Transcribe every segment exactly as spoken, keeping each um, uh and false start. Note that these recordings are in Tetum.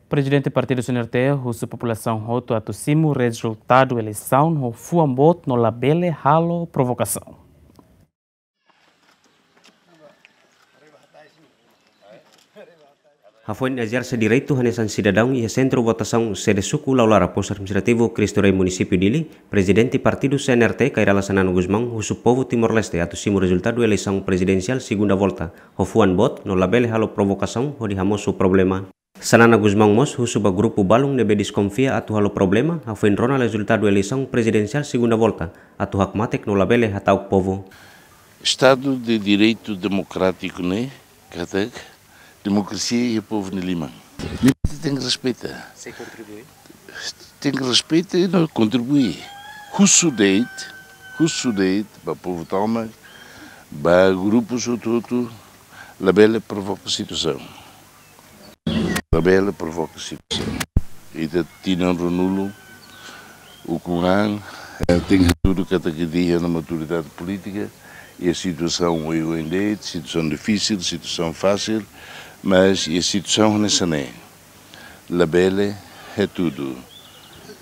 Prezidente Partidu C N R T husu populasaun hotu atu simu rezultadu eleisaun ho fuan boot no labele halo provokasaun. Hafoin ezerse direitu hanesan sidadaun iha sentru votasaun sede suku Laulara, Postu Administrativu Cristo Rei, Munisípiu Dili, Prezidente Partidu C N R T, Kay Rala Xanana Gusmão, husu povu Timor-Leste atu simu rezultadu eleisaun prezidensiál segunda volta ho fuan boot no labele halo provokasaun hodi hamosu problema. Xanana Gusmão mós husu ba grupu balun ne'ebé deskonfia atu halo problema hafoin rona rezultadu eleisaun prezidensiál segunda volta atu hakmatek no labele hata'uk povu. Estadu de Direitu Demokrátiku ne'e katak demokrasia iha povu nia liman. Ne'e tenke respeita. Sei kontribui. Tenke respeita i no kontribui. Husu de'it, husu de'it ba povu tomak, ba grupus hotu-hotu, labele provoka situasaun. Labele provoka situasaun. Ita tinan ruanulu ukun an, eh, tenke hatudu katak ita iha ona maturidade polítika, iha situasaun oioin de'it, situasaun difisil, situasaun fasil, mas iha situasaun hanesan ne'e labele hatudu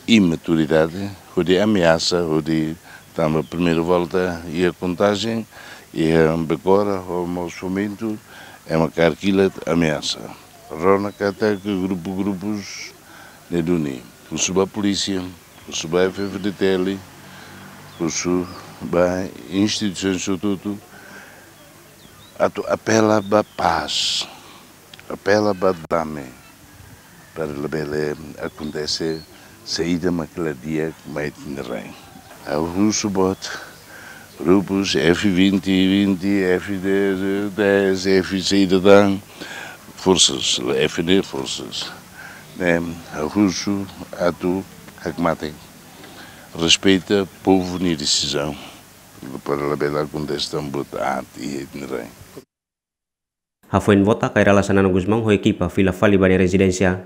imaturidade, hodi ameasa, hodi tanba primeira volta iha kontajen, iha bekora ho mós momentu, ema kaer kilat ameasa. Rona katak grupu-grupus ne'e duni, husu ba polísia, husu ba F-FDTL, husu ba instituisaun hotu-hotu, atu apela ba pás, apela ba dame, para labele akontese saida mak la di'ak mai iha ita-nia rain. Ha'u husu boot, grupus F vinte, vinte, F dez, dez, F saida tan, forsas, F ne'e forsas. Ne'e, ha'u husu atu hakmatek, respeita povu nia desizaun, para labele akontese tan buat aat iha ita-nia rain. Hafoin vota, Kay Rala Xanana Gusmão ho ekipa fila fali ba nia rezidénsia.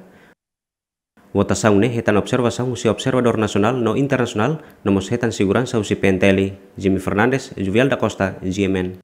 Votasaun ne'e hetan observasaun husi observadór nasionál no internasionál, no mós hetan seguransa husi P N T L. Jimmy Fernandes, Juvial da Costa, G M N.